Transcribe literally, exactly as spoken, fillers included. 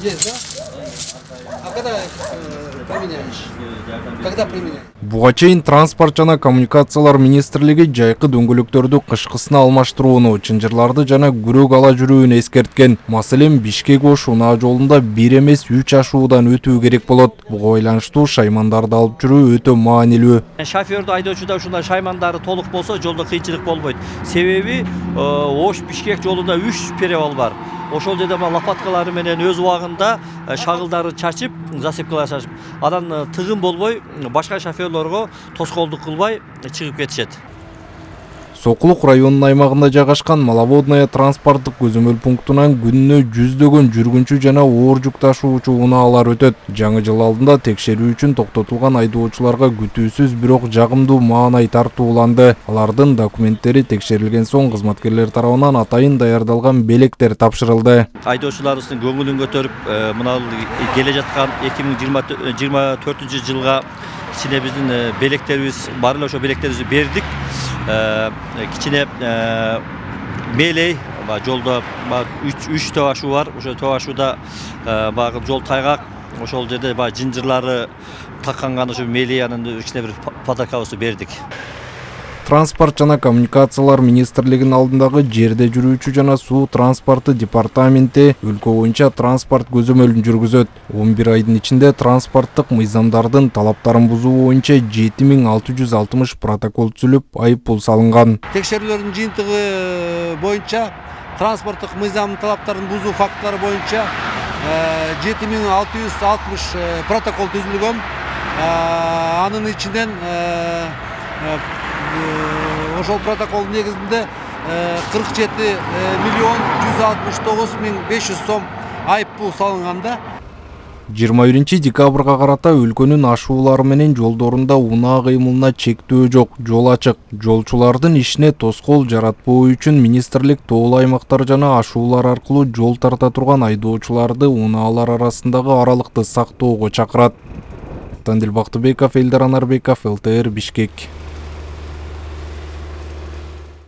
Есть, да? А когда э, применяешь? Когда применяешь? Буга чейин Транспорт жана коммуникациялар министрлиги жайкы дөңгөлөктөрдү кышкысына алмаштырууну, чынжырларды жана күрөк ала жүрүүнү эскерткен. Маселен, Бишкек-Ош унаа жолунда бир эмес үч ашуудан өтүү керек болот. Буга байланыштуу шаймандарды алып жүрүү өтө маанилүү. Шофердүү айдоочуда ушундай шаймандары толук болсо, жолдо кыйынчылык болбойт. Себеби Ош Бишкек жолунда үч перевал бар. Ошол жерде лопаткалары менен өз убагында шагылдары чачып, засыпкалар чачып, анан тыгын болбой, башка шоферлорго тоскоолдук кылбай чыгып кетишет. Сокулук районунун аймагында жайгашкан Маловодная транспорттук көзөмөл пунктунан күнүнө жүздөгөн жүргүнчү жана оор жүк ташуучу унаалар өтөт. Жаңы жыл алдында текшерүү үчүн токтотулган айдоочуларга күтүүсүз бирок жагымдуу маанай тартууланды. Алардын документтери текшерилген соң кызматкерлер тарабынан атайын даярдалган белектер тапшырылды. Айдоочуларыбыздын көңүлүн көтөрүп, мына келе жаткан эки миң жыйырма төртүнчү жылга кичине биздин белектерибиз бар эле, ошо белектерибизди бердик. Кичине мелей жолдо үч төө ашуу бар. Ошо төө ашууда багы жол тайгак. Ошол жерде баягы жынжырлары такканган ошо мелей анан кичине бир подаркабызды бердик. Транспорт жана коммуникациялар министрлигинин алдындагы жерде жүрүүчү жана суу транспорту департаменти өлкө боюнча транспорт көзөмөлүн жүргүзөт. он бир айдын ичинде транспорттук мыйзамдардын талаптарын бузуу боюнча жети миң алты жүз алтымыш протокол түзүлүп, айып пул салынган. Текшерүүлөрдүн жыйынтыгы боюнча транспорттук мыйзамдын талаптарын бузуу фактылары боюнча жети миң алты жүз алтымыш протокол түзүлгөн. Анын ичинен ошол протокол негизинде кырк жети миллион жүз алтымыш тогуз миң беш жүз сом айып пул салынганда. жыйырма биринчи декабрга карата өлкөнүн ашуулары менен жолдорунда унаа кыймылына чектөө жок, жол ачык. Жолчулардын ишине тоскоол жаратпоо үчүн министрлик тоолуу аймактар жана ашуулар аркылуу жол тарта турган айдоочуларды унаалар арасындагы аралыкты сактоого чакырат. Тандил Бактыбеков, Элдар Анарбеков, эл тэ эр, Бишкек.